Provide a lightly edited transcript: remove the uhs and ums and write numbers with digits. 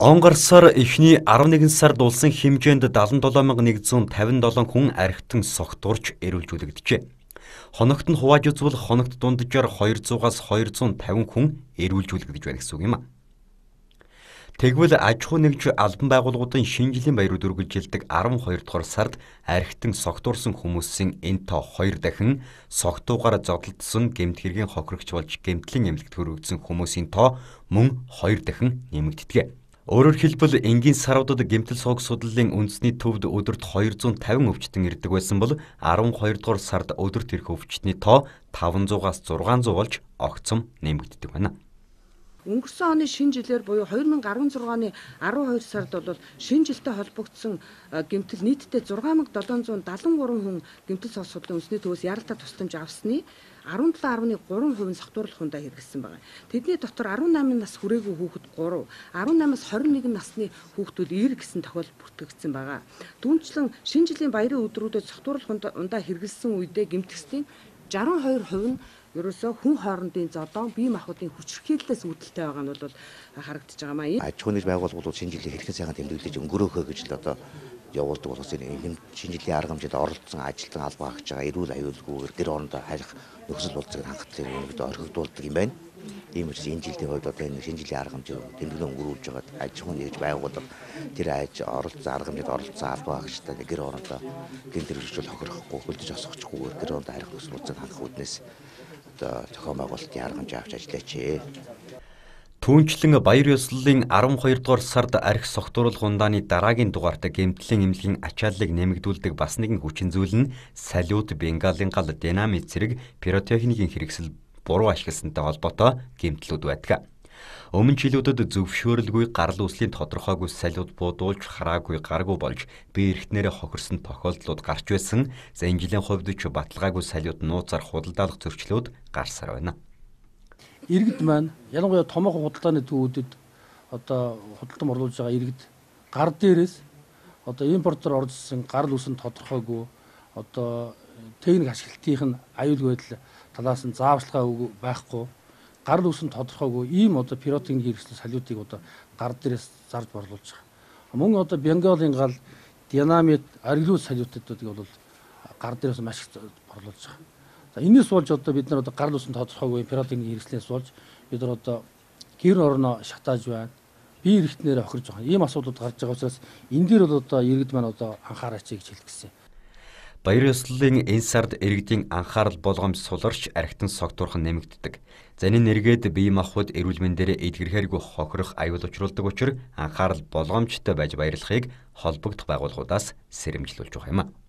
Он сар эхний 11 сард улсын хэмжээнд 77,157 хүн архитан согтуурч эрүүлжүүлэгдэжээ. Хоногт нь хувааж үзвэл хоногт дунджаар 200-аас 250 хүн эрүүлжүүлэгдэж байна гэсэн үг юм а. Тэгвэл аж ахуй нэгж албан байгууллагуудын шинэ жилийн баярууд үргэлжилдэг 12 дугаар сард архитан согтуурсан хүмүүсийн энэ тоо 2 дахин согтуугаар зодтолдсон гэмт хэргийн хохирогч болж гэмтлийн эмнэлэгт хүрэгдсэн хүмүүсийн тоо мөн 2 дахин нэмэгддэг. Өөрөөр хэлбэл энгийн саруудад гэмтэл согг судлалын үндэсний төвд өдөрт 250 өвчтөн ирдэг байсан бол 12 дугаар сард өдөрт ирэх өвчтний тоо 500-аас 600 болж огцом нэмэгддэг байна. Өнгөрсөн оны шинэ жилээр буюу 2016 оны 12 сард бол шинэ жилтэй холбогдсон гэмтэл нийтдээ 6773 хүн гэмтэл согг судлалын үндэсний төвөөс яралтай тусламж авсны 17.3% нь согтууруулах хүндээ хэрэгжсэн байна. Тэдний дотор 18 нас хүрээгүй хүүхэд 3, 18-аас 21 насны хүүхдүүд 90 гэсэн тохиолдол бүртгэгдсэн байна. Түүнчлэн шинэ жилийн баярын өдрүүдэд согтууруулах хүндээ хэрэгжсэн үедээ гэмтгчдийн 62% нь ерөөсөө хүн хоорондын зодон бие махбодын хүчирхийллээс үүдэлтэй байгаа нь бол харагдаж байгаа маа. Аж ахуйн байгууллагууд шинэ жилийн хэрхэн сайхан тэмдэглэж өнгөрөөхөө гэж л одоо явуулдаг болохоос энэ шинэ жилийн арга хэмжээнд оролцсон ажилтан албаа хаагч байгаа эрүүл аюулгүйгээр гэр орондоо харих нөхцөл болцоог хангалттай өнөд орхигдуулдаг юм байна. Ийм учраас энэ жилийн хувьд одоо энэ шинэ жилийн арга хэмжээ тэмдэглэн өнгөрүүлж байгаа аж ахуйн нэгж байгууллага тэр оролцсон арга хэмжээнд оролцсон албаа хаагчтай гэр орондоо гэн тэржүүл хохирохгүй хөлдөж осгочихгүйгээр гэр орондоо харих нөхцөл болцоог хангах үүднээс зохион байгуулалтын арга хэмжээ авч ажиллаач. Түүнчлэн баяр ёслолын 12 дугаар сард архи согтууруулах ундааны дараагийн дугаарт гэмтлийн эмнэлгийн ачааллыг нэмэгдүүлдэг бас нэгэн хүчин зүйл нь салют, бенгалийн гал, динамит зэрэг пиротехникийн хэрэгсэл буруу ашигласантай холбоотой гэмтлүүд байдаг. Өмнө жилүүдэд зөвшөөрөлгүй гарал үүслийн тодорхойгүй салют буудуулж хараагүй гаргүй болж бие эрхтнэрээ хохирсон тохиолдлууд гарч байсан. За энэ жилийн хувьд ч баталгаагүй салют нууцаар худалдаалах зөрчлүүд гарсаар байна. Иргэд маань ялангуяа томоохон худалдааны төвүүдэд одоо худалдан оруулж байгаа иргэд гар дээрээс одоо импортоор оржсон гарал үүсэнд тодорхойгүй одоо техник ашиглалтын аюулгүй байдал талаас нь зааварчилгаа байхгүй гарал үүсэнд тодорхойгүй ийм одоо пиротехник хэрэгсэл салютыг одоо гар дээрээс зарж борлуулж байгаа. Мөн одоо бенгалийн гал, динамит, аргилуул салютуудыг бол гар дээрээс маш их борлуулж байгаа. За энэс болж одоо бид нар одоо гарал үүсэнд тодорхойгүй пиротехник хэрэгслээс болж бид нар одоо гэр орноо шатааж байна. Бие эрхтнэрээ хохирж байгаа. Ийм асуудлууд гарч байгаа учраас энэ дээр бол одоо иргэд маань одоо анхаараач гэж хэлэх гэсэн. Баяр ёслолын энэ сард иргэдийн анхаарал болгоомж суларч архитан согтуурхан нэмэгддэг. За энэ нэргээд бие махбод эрүүл мэндээр эдгэрхээргүй хохирох аюул учруулдаг учраас анхаарал болгоомжтой байж баярлахыг холбогдох байгууллагуудаас сэрэмжлүүлж байгаа юм а.